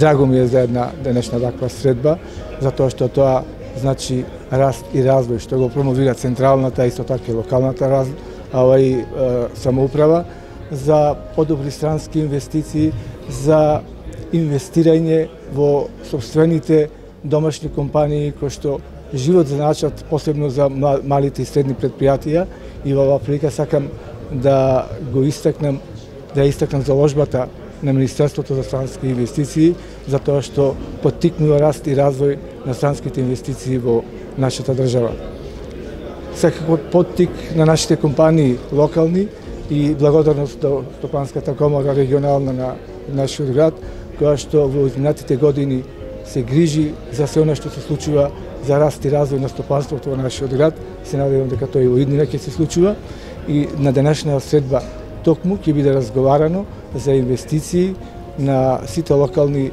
драго ми е за една денешна таква средба, затоа што тоа значи раст и развој, што го промовира централната, исто така и локалната самоуправа, за подобри странски инвестиции, за инвестирање во собствените домашни компании кои што живот значат посебно за малите и средни предпријатија, и во оваа прилика сакам да го истакнам, заложбата на Министерството за странски инвестиции, затоа што поттикнува раст и развој на странските инвестиции во нашата држава. Секако поттик на нашите компании локални и благодарност до Стопанската комора регионална на нашиот град, која што во изминатите години се грижи за се она што се случува за раст и развој на стопанството во нашиот град. Се надевам дека тој во иднина ќе се случува, и на денешната средба токму ќе биде разговарано за инвестиции на сите локални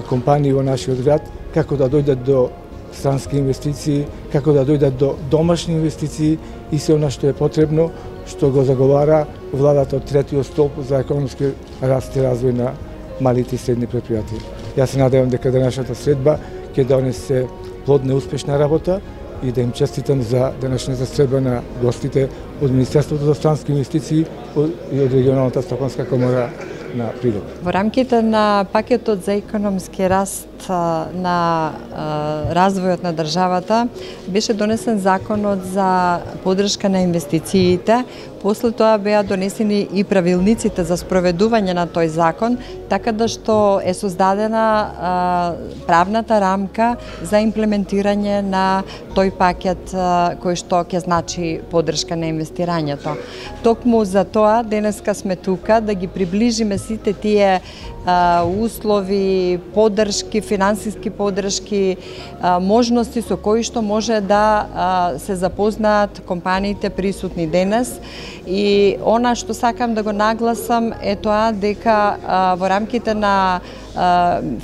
компании во нашиот град, како да дојдат до странски инвестиции, како да дојдат до домашни инвестиции и се она што е потребно, што го заговара владата од третиот столб за економски раст и развој на малите и средни предпријатија. Јас се надевам дека денешната средба ќе донесе плодна и успешна работа и да им честитам за денешната средба на гостите од Министерството за странски инвестиции и од регионалната Стопанска комора на Прилеп. Во рамките на пакетот за економски раст на развојот на државата беше донесен законот за поддршка на инвестициите. После тоа беа донесени и правилниците за спроведување на тој закон, така да што е создадена правната рамка за имплементирање на тој пакет кој што ќе значи поддршка на инвестирањето. Токму за тоа денеска сме тука да ги приближиме сите тие услови, поддршки, финансиски поддршки, можности со кои што може да се запознаат компаниите присутни денес. И она што сакам да го нагласам е тоа дека во рамките на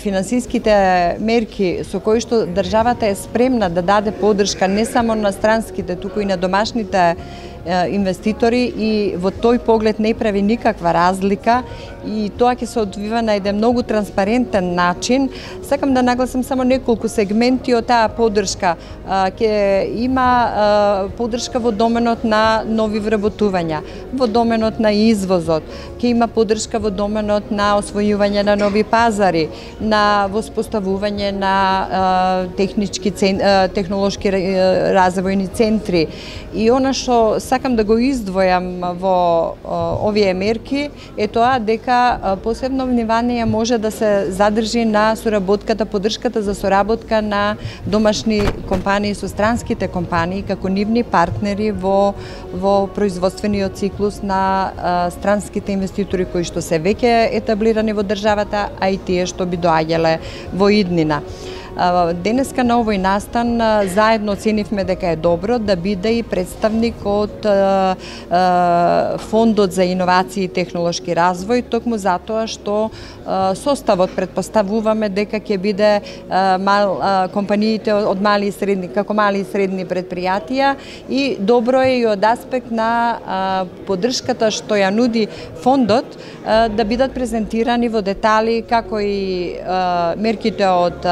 финансиските мерки со кои што државата е спремна да даде поддршка не само на странските, туку и на домашните инвеститори, и во тој поглед не прави никаква разлика и тоа ќе се одвива на еден многу транспарентен начин. Сакам да нагласам само неколку сегменти од таа поддршка. Ќе има поддршка во доменот на нови вработувања, во доменот на извозот, ќе има поддршка во доменот на освојување на нови пазари, на воспоставување на технолошки развојни центри. И она што сакам да го издвојам во овие мерки е тоа дека посебно внимание може да се задржи на соработката, поддршката за соработка на домашни компании со странските компании како нивни партнери во производствениот циклус на странските инвеститори кои што се веќе етаблирани во државата, а и тие што би доаѓале во иднина. Денеска на овој настан заедно оценивме дека е добро да биде и представник од Фондот за иновации и технолошки развој, токму затоа што составот предпоставуваме дека ќе биде компаниите од мали и средни, како мали и средни предпријатија, и добро е и од аспект на поддршката што ја нуди фондот да бидат презентирани во детали како и мерките од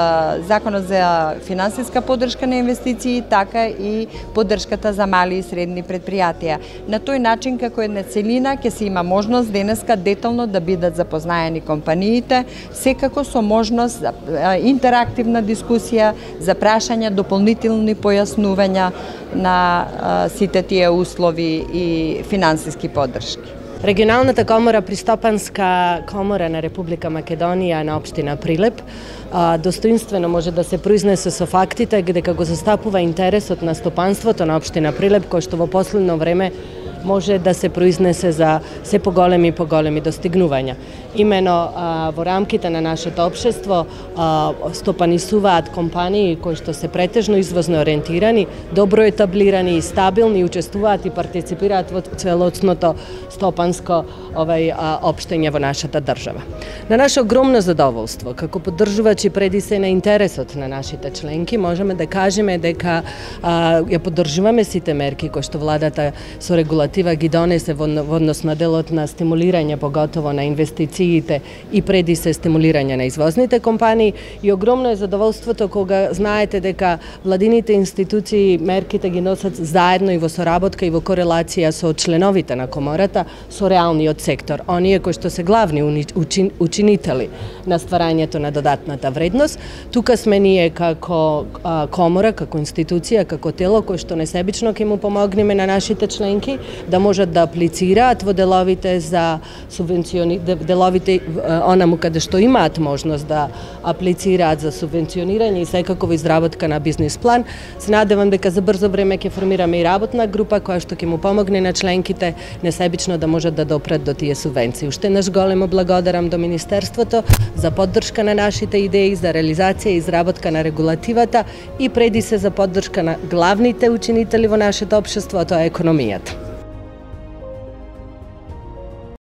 Законот за финансиска поддршка на инвестиции, така и поддршката за мали и средни предпријатија. На тој начин, како една целина, ќе се има можност денеска детално да бидат запознаени компаниите, секако со можност за интерактивна дискусија, за прашања, дополнителни појаснувања на сите тие услови и финансиски поддршки. Регионалната комора при Стопанска комора на Република Македонија на општина Прилеп достоинствено може да се произнесе со фактите дека го застапува интересот на стопанството на општина Прилеп, кој што во последно време може да се произнесе за се поголеми и поголеми достигнувања. Имено во рамките на нашето општество стопанисуваат компании кои што се претежно извозно ориентирани, добро етаблирани и стабилни, учествуваат и партиципираат во целоцното стопанство стопанско општење во нашата држава. На наше огромно задоволство, како поддржувачи преди се на интересот на нашите членки, можеме да кажеме дека ја поддржуваме сите мерки кои што владата со регулатива ги донесе во однос на делот на стимулирање, поготово на инвестициите и преди се стимулирање на извозните компании, и огромно е задоволството кога знаете дека владините институции мерките ги носат заедно и во соработка и во корелација со членовите на комората, со реалниот сектор, оние кои што се главни учинители на стварањето на додатната вредност. Тука сме ние како комора, како институција, како тело кој што несебично ќе му помогнеме на нашите членки да можат да аплицираат во деловите за деловите онаму каде што имаат можност да аплицираат за субвенционирање и секако во изработка на бизнис план. Се надевам дека за брзо време ќе формираме и работна група која што ќе му помогне на членките несебично да можат да допрат до тие субвенции. Уште еднаш големо благодарам до Министерството за поддршка на нашите идеи, за реализација и изработка на регулативата и преди се за поддршка на главните учинители во нашето општество, а тоа е економијата.